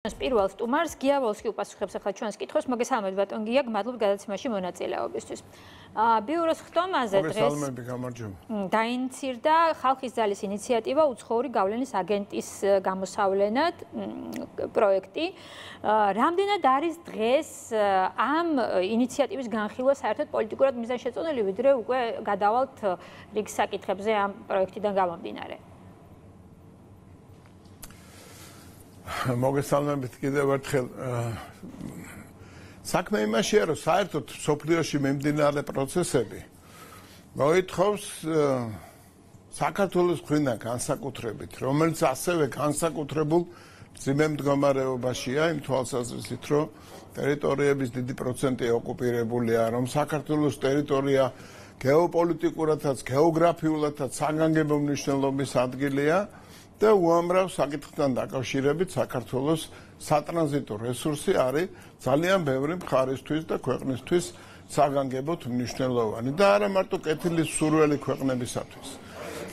პირველ სტუმარს გია ვოლსკი უპასუხებს ახლა ჩვენს კითხვას. მოგესალმებით ბატონ გია, გმადლობ გადაცემაში მონაწილეობისთვის. ბიუროს ხტომაზე დღეს დაინიცირდა ხალხის ძალის ინიციატივა უცხოური გავლენის აგენტის გამოსავლენად პროექტი. რამდენად არის დღეს ამ ინიციატივის განხილვა საერთოდ პოლიტიკურად მიზანშეწონილი, ვიდრე უკვე გადავალთ რიგ საკითხებზე ამ პროექტიდან გამომდინარე? მოგესალმებით კიდევ ერთხელ. საქმე იმაშია, რომ საერთოდ სოფლიოში მიმდინარე პროცესები მოითხოვს საქართველოს მხრიდან განსაკუთრებით, რომელიც ასევე განსაკუთრებულ მძიმე მდგომარეობაშია, იმ თვალსაზრისით, რომ ტერიტორიების დიდი პროცენტი ოკუპირებულია, რომ საქართველოს ტერიტორია გეოპოლიტიკურადაც, გეოგრაფიულადაც საგანგებო მნიშვნელობის ადგილია. და უამრავ საკითხთან დაკავშირებით საქართველოს სატრანზიტო რესურსი არის ძალიან ბევრი მხარისთვის და ქვეყნისთვის საგანგებოდ მნიშვნელოვანი და არა მარტო კეთილის სურველი ქვეყნებისათვის.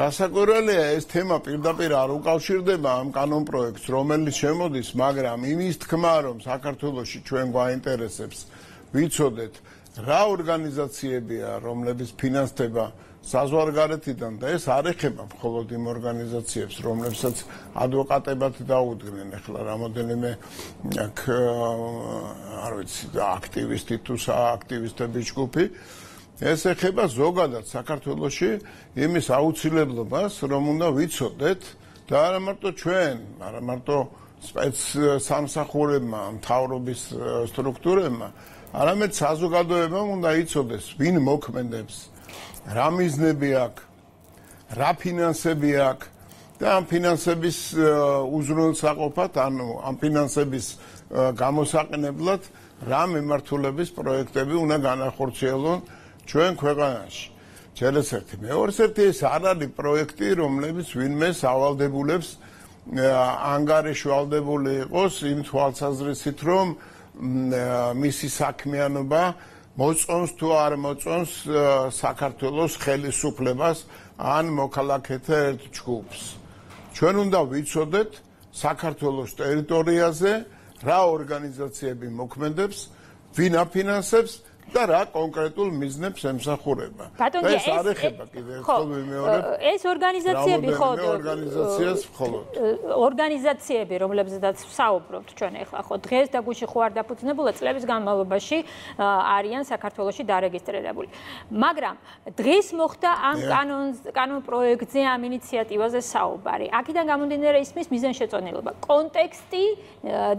რასაკვირველია, ეს თემა პირდაპირ არ უკავშირდება ამ კანონპროექტს, რომელიც შემოდის, მაგრამ იმის თქმა, რომ საქართველოში ჩვენ გვაინტერესებს ვიცოდეთ, რა ორგანიზაციებია, რომლებიც ფინანსდება საზღვარგარეთიდან და ეს არ ეხება მხოლოდ იმ ორგანიზაციებს, რომლებსაც ადვოკატებად დაუდგნენ ახლა რამოდენიმე არ ვიცი, აქტივისტი თუ სააქტივისტების ჯგუფი, ეს ეხება ზოგადად საქართველოში იმის აუცილებლობას, რომ უნდა ვიცოდეთ და არა მარტო ჩვენ, არა მარტო სპეცსამსახურებმა, მთავრობის სტრუქტურებმა, არამედ საზოგადოებამ უნდა იცოდეს, ვინ მოქმედებს, რა მიზნები აქვს, რა ფინანსები აქვს და ამ ფინანსების უზრუნველსაყოფად, ანუ ამ ფინანსების გამოსაყენებლად რა მიმართულების პროექტები უნდა განახორციელონ ჩვენ ქვეყანაში. ჯერესერთი, მეორესერთი ეს არ არის პროექტი, რომლებიც ვინმე სავალდებულებს ანგარიშვალდებული იყოს იმ თვალსაზრისით, რომ მისი საქმიანობა მოწონს თუ არ მოწონს საქართველოს ხელისუფლებას ან მოქალაქეთა ერთ ჯგუფს. ჩვენ უნდა ვიცოდეთ საქართველოს ტერიტორიაზე რა ორგანიზაციები მოქმედებს, ვინ აფინანსებს და რა კონკრეტულ მიზნებს ემსახურება. ეს არ ეხება კიდევ ერთხელ ვიმეორებ. ეს ორგანიზაციები ხო ორგანიზაციას მხოლოდ. ორგანიზაციები, რომლებზედაც ვსაუბრობთ ჩვენ ახლა ხო დღეს და გუშინ ხო არ დაფუძნებულა წლების განმავლობაში არიან საქართველოში დარეგისტრირებული. მაგრამ დღეს მოხდა ამ კანონ პროექტზე, ამ ინიციატივაზე საუბარი. აქედან გამომდინარე ისმის მიზანშეწონილობა, კონტექსტი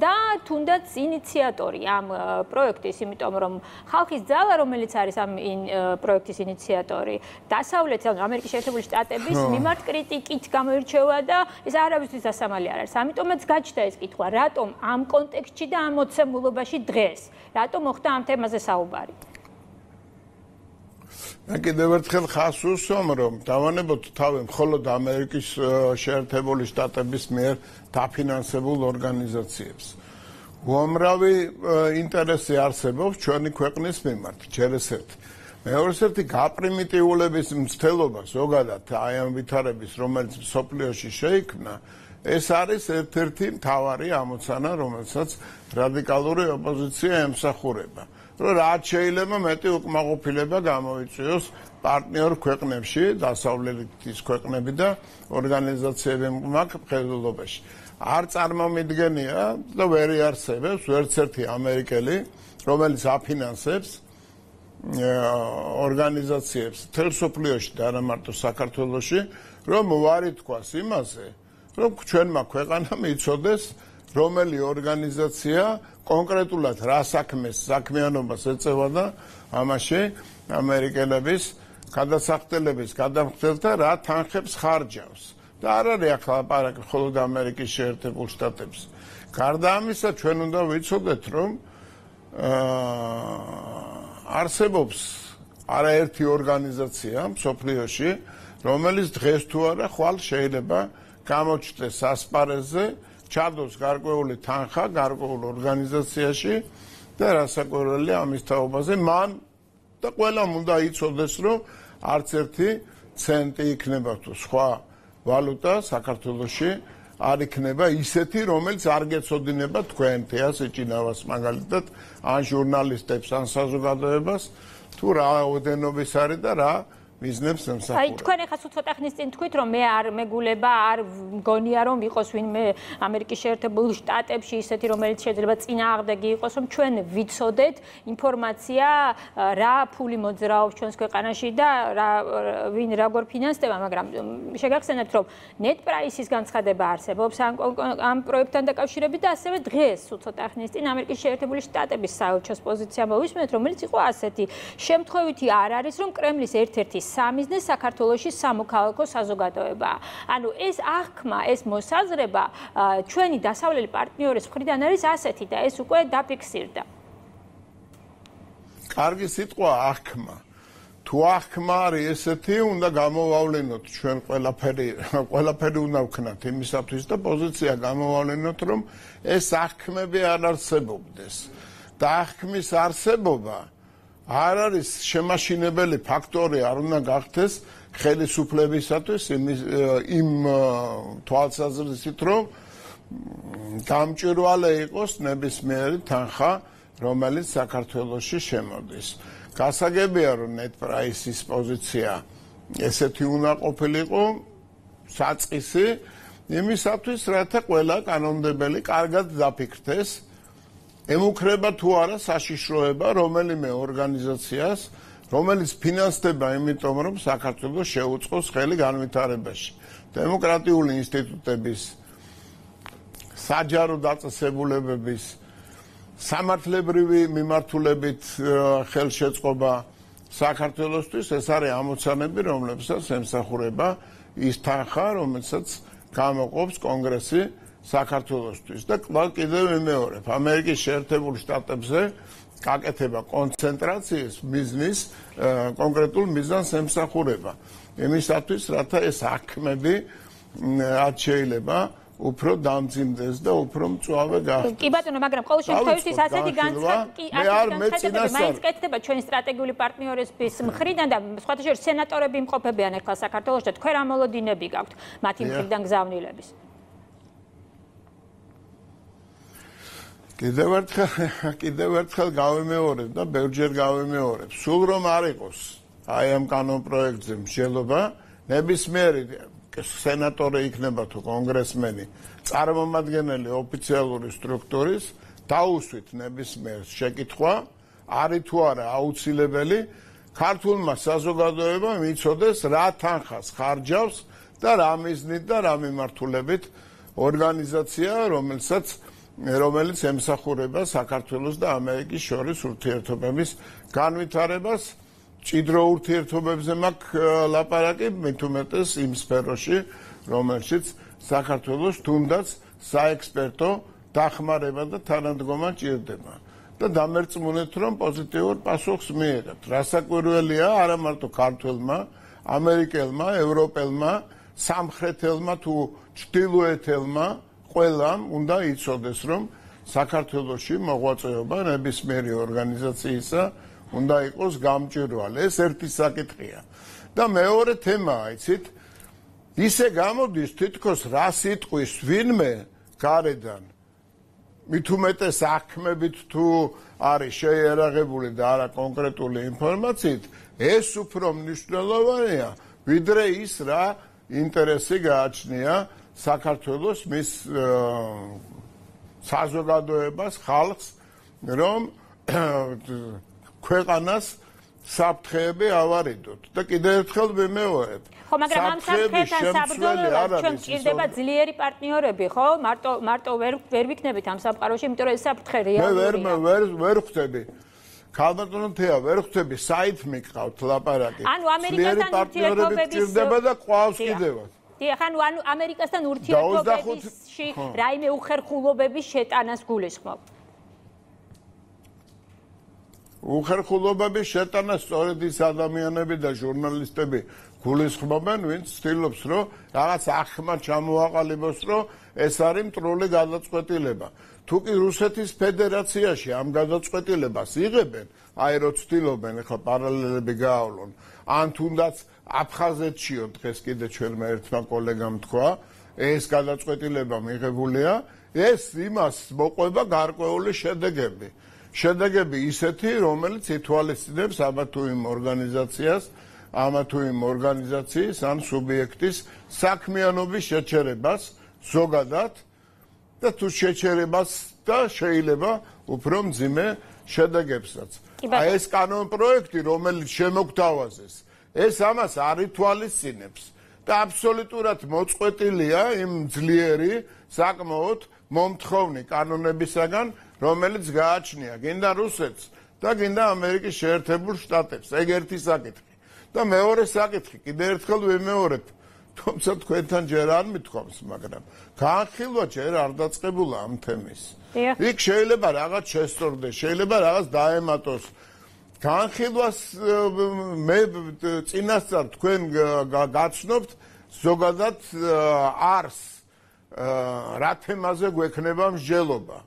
და თუნდაც ინიციატორი ამ პროექტის, იმიტომ რომ ხალხის ძალა, რომელიც არის ამ პროექტის ინიციატორი, დასავლეთ ამერიკის შეერთებული შტატების მიმართ კრიტიკით გამოირჩევა და ეს არავისთვის დასამალი არ არის. ამიტომაც გაჩნდა ეს კითხვა, რატომ ამ კონტექსტში და ამ მოცემულობაში დღეს, რატომ მოხდა ამ თემაზე საუბარი? მე კიდევ ერთხელ ხას უსვამ, რომ დავანებოთ თავი მხოლოდ ამერიკის შეერთებული შტატების მიერ დაფინანსებულ ორგანიზაციებს. უამრავი ინტერესი არსებობს ჩვენი ქვეყნის მიმართ, ჯერესერთი. მეორესერთი გაპრიმიტიულების მცდელობა ზოგადად აი ამ ვითარების, რომელიც სოფლიოში შეიქმნა, ეს არის ერთ-ერთი მთავარი ამოცანა, რომელსაც რადიკალური ოპოზიცია ემსახურება. რომ რაც შეიძლება მეტი უკმაყოფილება გამოიწვიოს პარტნიორ ქვეყნებში, დასავლეთის ქვეყნები და ორგანიზაციები მხედველობაში. არ წარმომიდგენია და ვერ იარსებებს ვერცერთი ამერიკელი, რომელიც აფინანსებს ორგანიზაციებს მთელ სოფლიოში და არა მარტო საქართველოში, რომ უარი თქვას იმაზე, რომ ჩვენმა ქვეყანამ იცოდეს, რომელი ორგანიზაცია კონკრეტულად რა საქმიანობას ეწევა და ამაში ამერიკელების გადასახდელების გადამხდელთა რა თანხებს ხარჯავს. და არ არის ახლა ლაპარაკი მხოლოდ ამერიკის შეერთებულ შტატებზე. გარდა ამისა, ჩვენ უნდა ვიცოდეთ, რომ არსებობს არაერთი ორგანიზაცია მსოფლიოში, რომელიც დღეს თუ არა ხვალ შეიძლება გამოჩნდეს ასპარეზზე, ჩადოს გარკვეული თანხა გარკვეულ ორგანიზაციაში და რასაკვირველია ამის თაობაზე მან და ყველამ უნდა იცოდეს, რომ არც ერთი ცენტი იქნება თუ სხვა ვალუტა საქართველოში არ იქნება ისეთი, რომელიც არ გეცოდინება თქვენ თეას ეჭინავას მაგალითად ან ჟურნალისტებს ან საზოგადოებას თუ რა ოდენობის არის და რა ბიზნესს ემსახურება. აი თქვენ ახლა ცოტა ხნის წინ თქვით რომ მე არ მეგულება არ მგონია რომ იყოს ვინმე ამერიკის შეერთებულ შტატებში ისეთი რომელიც შეიძლება წინააღმდეგი იყოს რომ ჩვენ ვიცოდეთ ინფორმაცია რა ფული მოძრაობს ჩვენს ქვეყანაში და ვინ როგორ ფინანსდება მაგრამ შეგახსენებთ რომ NetPrice-ის განცხადება არსებობს ამ პროექტთან დაკავშირებით და ასევე დღეს ცოტა ხნის წინ ამერიკის შეერთებული შტატების საელჩოს პოზიცია მოვისმენთ რომელიც იყო ასეთი შემთხვევითი არ არის რომ კრემლის ერთ-ერთი სამიზნეს საქართველოში სამოქალაქო საზოგადოებაა. ანუ ეს აღქმა, ეს მოსაზრება ჩვენი დასავლელი პარტნიორის მხრიდან არის ასეთი და ეს უკვე დაფიქსირდა. კარგი სიტყვა აღქმა. თუ აღქმა არის ესეთი, უნდა გამოვავლენოთ ჩვენ ყველაფერი უნდა ვქნათ იმისათვის და პოზიცია გამოვავლენოთ, რომ ეს აღქმები არ არსებობდეს. და აღქმის არსებობა არ არის შემაშინებელი ფაქტორი არ უნდა გახდეს ხელისუფლებისათვის იმ თვალსაზრისით რომ გამჭვირვალე იყოს ნებისმიერი თანხა რომელიც საქართველოში შემოდის. გასაგებია რომ NetPrice-ის პოზიცია ესეთი უნდა ყოფილიყო საწყისი იმისათვის რათა ყველა კანონმდებელი კარგად დაფიქრდეს ემუქრება თუ არა საშიშროება რომელიმე ორგანიზაციას, რომელიც ფინანსდება იმიტომ, რომ საქართველოს შეუწყოს ხელი განვითარებაში. დემოკრატიული ინსტიტუტების, საჯარო დაწესებულებების, სამართლებრივი მიმართულებით ხელშეწყობა საქართველოსთვის ეს არის ამოცანები, რომლებსაც ემსახურება ის თანხა, რომელსაც გამოყოფს კონგრესი საქართველოსთვის და კიდევ ვიმეორებ ამერიკის შეერთებულ შტატებზე გაკეთება კონცენტრაციის მიზნის კონკრეტულ მიზანს ემსახურება იმისათვის რათა ეს აღქმები რაც შეიძლება უფრო დამძიმდეს და უფრო მწვავე გახდეს. კი ბატონო, მაგრამ ყოველ შემთხვევაში ასეთი განცხადება მაინც კეთდება ჩვენი სტრატეგიული პარტნიორების მხრიდან და სხვათა შორის სენატორები იმყოფებიან ახლა საქართველოში და თქვენ რა მოლოდინები გაქვთ მათი მხრიდან გზავნილების? კიდევ ერთხელ გავიმეორებ და ბევრჯერ გავიმეორებ. სულ რომ არ იყოს აი ამ კანონპროექტზე მსჯელობა, ნებისმიერი სენატორი იქნება თუ კონგრესმენი, წარმომადგენელი ოფიციალური სტრუქტურის, დაუსვით ნებისმიერ შეკითხვა, არის თუ არა აუცილებელი ქართულმა საზოგადოებამ იცოდეს რა თანხას ხარჯავს და რა მიზნით და რა მიმართულებით ორგანიზაცია, რომელიც ემსახურება საქართველოს და ამერიკის შორის ურთიერთობების განვითარებას, ჭიდრო ურთიერთობებზე მაქვს ლაპარაკი, მით უმეტეს იმ სფეროში, რომელშიც საქართველოს თუნდაც საექსპერტო დახმარება და თანადგომა ჭირდება. და დამერწმუნეთ, რომ პოზიტიურ პასუხს მიიღებთ. რასაკვირველია, არა მარტო ქართველმა, ამერიკელმა, ევროპელმა, სამხრეთელმა თუ ჩრდილოეთელმა ყველამ უნდა იცოდეს, რომ საქართველოში მოღვაწეობა ნებისმიერი ორგანიზაციისა უნდა იყოს გამჭვირვალე. ეს ერთი საკითხია. და მეორე თემაა, იცით, ისე გამოდის თითქოს რა სიტყვის ვინმე გარედან მით უმეტეს აღქმებით თუ არის შეიარაღებული და არა კონკრეტული ინფორმაციით, ეს უფრო მნიშვნელოვანია, ვიდრე ის რა ინტერესი გააჩნია საქართველოს მის საზოგადოებას, ხალხს, რომ ქვეყანას საფრთხეები ავარიდოთ. და კიდევ ერთხელ ვიმეორებ. ხო, მაგრამ ამ საფრთხეებთან საბრძოლველად ჩვენ გვჭირდება ძლიერი პარტნიორები, ხო? მარტო ვერ ვიქნებით ამ სამყაროში, იმიტომ რომ ეს საფრთხე რეალურია. მე ვერ ხვდები. ქალბატონო თეა, ვერ ხვდები, საით მიყავთ ლაპარაკი. ანუ ამერიკასთან ურთიერთობების ჭირდება და ყავს კიდევაც. დიახ, ანუ ამერიკასთან ურთიერთობებში რაიმე უხერხულობების შეტანას გულისხმობ. უხერხულობების შეტანა სწორედ ის ადამიანები და ჟურნალისტები გულისხმობენ, ვინც ცდილობს, რომ რაღაც აღქმა ჩამოაყალიბოს, რომ ეს არის მტრული გადაწყვეტილება. თუ კი რუსეთის ფედერაციაში ამ გადაწყვეტილებას იღებენ, აი რო ცდილობენ, ახლა პარალელები გაავლონ, ან თუნდაც აფხაზეთშიო დღეს კიდე ჩვენმა ერთმა კოლეგამ თქვა, ეს გადაწყვეტილება მიღებულია, ეს იმას მოყვება გარკვეული შედეგები. შედეგები ისეთი, რომელიც ითვალისწინებს ამა თუ იმ ორგანიზაციას, ამა თუ იმ ორგანიზაციის ან სუბიექტის საქმიანობის შეჩერებას ზოგადად და თუ შეჩერებას და შეიძლება უფრო მძიმე შედეგებსაც. აი ეს კანონპროექტი, რომელიც შემოგთავაზეს, ეს ამას არ ითვალისწინებს და აბსოლუტურად მოწყვეტილია იმ ძლიერი, საკმაოდ მომთხოვნი კანონებისაგან, რომელიც გააჩნია გინდა რუსეთს და გინდა ამერიკის შეერთებულ შტატებს. ეგ ერთი საკითხი. და მეორე საკითხი, კიდევ ერთხელ ვიმეორებ, თუმცა თქვენთან ჯერ არ მithქვამს, მაგრამ განხილვა ჯერ არ დაწყებულა ამ თემის. იქ შეიძლება რაღაც შესწორდეს, შეიძლება რაღაც დაემატოს. განხილვას მე წინასწარ თქვენ გაცნობთ ზოგადად არს რა თემაზე გვექნება მსჯელობა.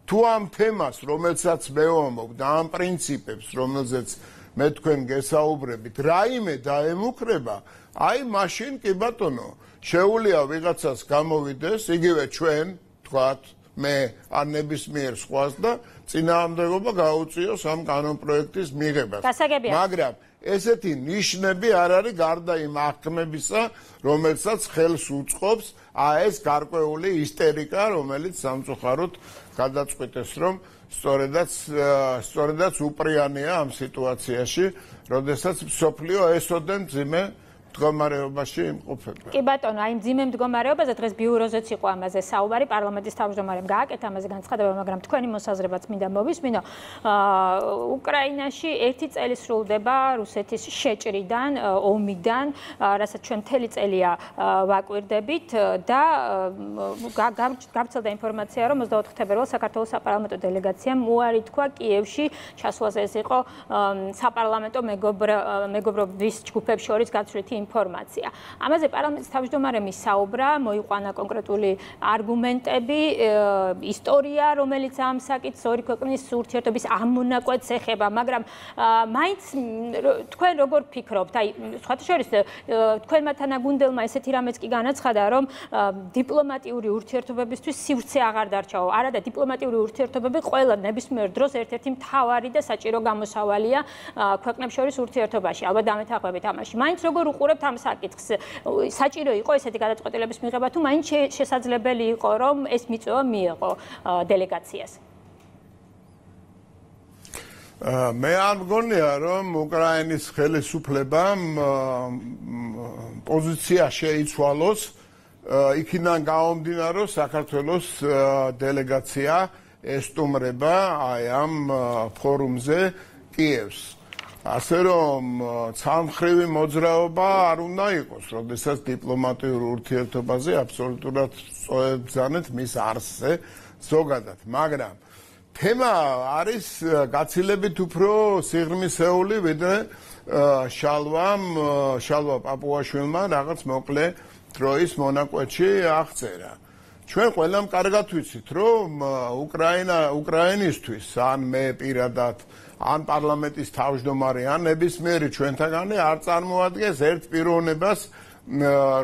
თუ ამ თემას, რომელსაც მე ვამბობ და ამ პრინციპებს, რომელზეც მე თქვენ გესაუბრებით, რაიმე დაემუქრება, აი მაშინ კი ბატონო, შეუძლია ვიღაცას გამოვიდეს, იგივე ჩვენ, თქვათ, მე არ ნებისმიერ სხვას და წინააღმდეგობა გაუწიოს ამ კანონპროექტის მიღებას. მაგრამ ესეთი ნიშნები არ არის გარდა იმ აღქმებისა, რომელსაც ხელს უწყობს ეს გარკვეული ისტერიკა, რომელიც სამწუხაროდ გადაწყვეტეს, რომ სწორედაც უპრიანია ამ სიტუაციაში, როდესაც მსოფლიო ესოდენ მძიმე მდგომარეობაში იმყოფება. კი ბატონო, აი მძიმე მდგომარეობაზე დღეს ბიუროზეც იყო ამაზე საუბარი, პარლამენტის თავმჯდომარემ გააკეთა ამაზე განცხადება, მაგრამ თქვენი მოსაზრებაც მინდა მოვისმინო. უკრაინაში 1 წელი სრულდება რუსეთის შეჭრიდან, ომიდან, რასაც ჩვენ მთელი წელია ვაკვირდებით და გავრცელდა ინფორმაცია, რომ 24 თებერვალს საქართველოს საპარლამენტო დელეგაციამ უარი თქვა კიევში ჩასვლაზე. ეს იყო საპარლამენტო მეგობრობის ჯგუფებს შორის გაცვლითი ინფორმაცია. ამაზე პარლამენტის თავმჯდომარემ საუბრა, მოიყვანა კონკრეტული არგუმენტები, ისტორია, რომელიც ამ საკითხს ორი ქვეყნის ურთიერთობის ამონაკვეთს ეხება, მაგრამ მაინც თქვენ როგორ ფიქრობთ? აი, სხვათა შორის თქვენმა თანაგუნდელმა ესეთი რამეც კი განაცხადა, რომ დიპლომატიური ურთიერთობებისთვის სივრცე აღარ დარჩაო. არა და დიპლომატიური ურთიერთობები ყველა ნებისმიერ დროს ერთ-ერთი მთავარი და საჭირო გამოსავალია ქვეყნებს შორის ურთიერთობაში. ალბათ დამეთანხმებით ამაში. მაინც როგორ უყურებთ ამ საკითხს? საჭირო იყო ესეთი გადაწყვეტილების მიღება თუ მაინც შესაძლებელი იყო, რომ ეს მიწვევა მიეღო დელეგაციას? მე არ მგონია, რომ უკრაინის ხელისუფლებამ პოზიცია შეიცვალოს იქიდან გამომდინარე, რომ საქართველოს დელეგაცია ესტუმრება აი ამ ფორუმზე კიევს. ასე რომ ცალმხრივი მოძრაობა არ უნდა იყოს, როდესაც დიპლომატიურ ურთიერთობაზე აბსოლუტურად სწორებძანეთ მის არსზე ზოგადად, მაგრამ თემა არის გაცილებით უფრო სიღრმისეული, ვიდრე შალვა პაპუაშვილმა რაღაც მოკლე დროის მონაკვეთში აღწერა. ჩვენ ყველამ კარგად ვიცით, რომ უკრაინისთვის ან მე პირადად ან პარლამენტის თავმჯდომარე ან ნებისმიერი ჩვენთაგანი არ წარმოადგენს ერთ პიროვნებას,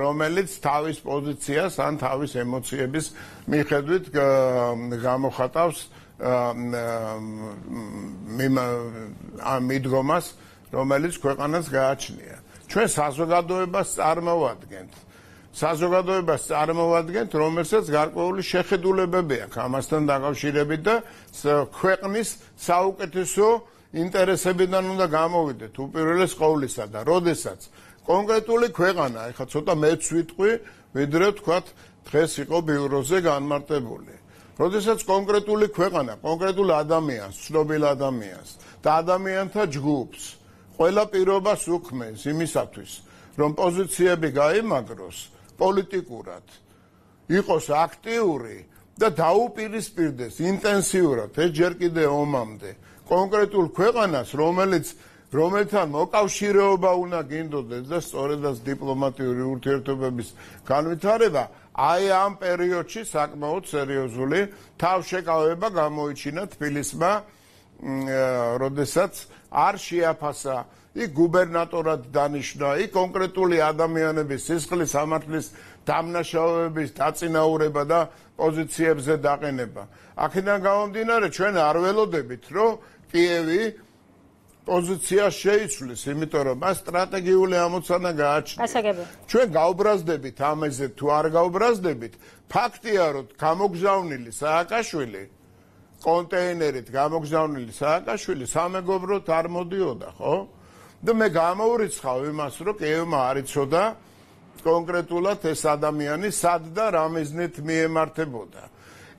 რომელიც თავის პოზიციას ან თავის ემოციების მიხედვით გამოხატავს მიდგომას, რომელიც ქვეყანას გააჩნია. ჩვენ საზოგადოებას წარმოვადგენთ, რომელსაც გარკვეული შეხედულებები აქვს ამასთან დაკავშირებით და ქვეყნის საუკეთესო ინტერესებიდან უნდა გამოვიდეთ უპირველეს ყოვლისა და როდესაც კონკრეტული ქვეყანა, ეხლა ცოტა მეც ვიტყვი, ვიდრე თქვათ დღეს იყო ბიუროზე განმარტებული. როდესაც კონკრეტული ქვეყანა, კონკრეტულ ადამიანს, ცნობილ ადამიანს და ადამიანთა ჯგუფს ყველა პირობას უქმნის იმისათვის, რომ პოზიციები გაიმაგროს პოლიტიკურად, იყოს აქტიური და დაუპირისპირდეს ინტენსიურად, ეს ჯერ კიდე ომამდე, კონკრეტულ ქვეყანას, რომელთან მოკავშირეობა უნდა გინდოდეს და სწორედაც დიპლომატიური ურთიერთობების განვითარება, აი ამ პერიოდში საკმაოდ სერიოზული თავშეკავება გამოიჩინა თბილისმა, როდესაც არ შეაფასა იქ გუბერნატორად დანიშნა, იქ კონკრეტული ადამიანების სისხლის სამართლის დამნაშავეების დაწინაურება და პოზიციებზე დაყენება. აქედან გამომდინარე, ჩვენ არ ველოდებით, რომ კიევი პოზიციას შეიცვლის, იმიტომ რომ მას სტრატეგიული ამოცანა გააჩნია. გასაგებია. ჩვენ გავბრაზდებით ამაზე თუ არ გავბრაზდებით, ფაქტია, რომ გამოგზავნილი სააკაშვილი კონტეინერით გამოგზავნილი სააკაშვილი სამეგობროდ არ მოდიოდა, ხო? და მე გამოურიცხავ იმას, რომ კიევმა არ იცოდა კონკრეტულად ეს ადამიანი სად და რა მიზნით მიემართებოდა.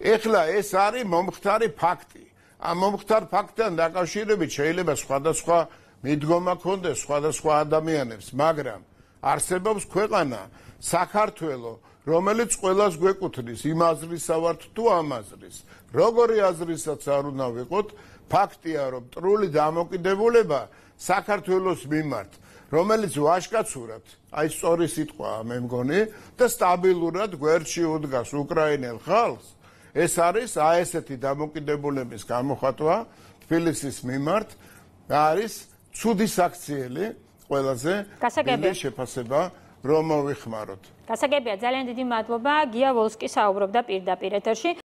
ეხლა ეს არის მომხდარი ფაქტი. ამ მომხდარ ფაქტთან დაკავშირებით შეიძლება სხვადასხვა მიდგომა ქონდეს სხვადასხვა ადამიანებს, მაგრამ არსებობს ქვეყანა საქართველო, რომელიც ყველას გვეკუთვნის, იმ აზრისა ვართ თუ ამ აზრის. როგორი აზრისაც არ უნდა ვიყოთ, ფაქტია, რომ მტრული დამოკიდებულება საქართველოს მიმართ, რომელიც ვაჟკაცურად, აი სწორი სიტყვაა მე მგონი, და სტაბილურად გვერდში უდგას უკრაინელ ხალხს, ეს არის ესეთი დამოკიდებულების გამოხატვა თბილისის მიმართ, არის ცუდი საქციელი ყველაზე დიდი შეფასება რომ მოვიხმაროთ. გასაგებია, ძალიან დიდი მადლობა. გია ვოლსკი საუბრობდა პირდაპირ ეთერში.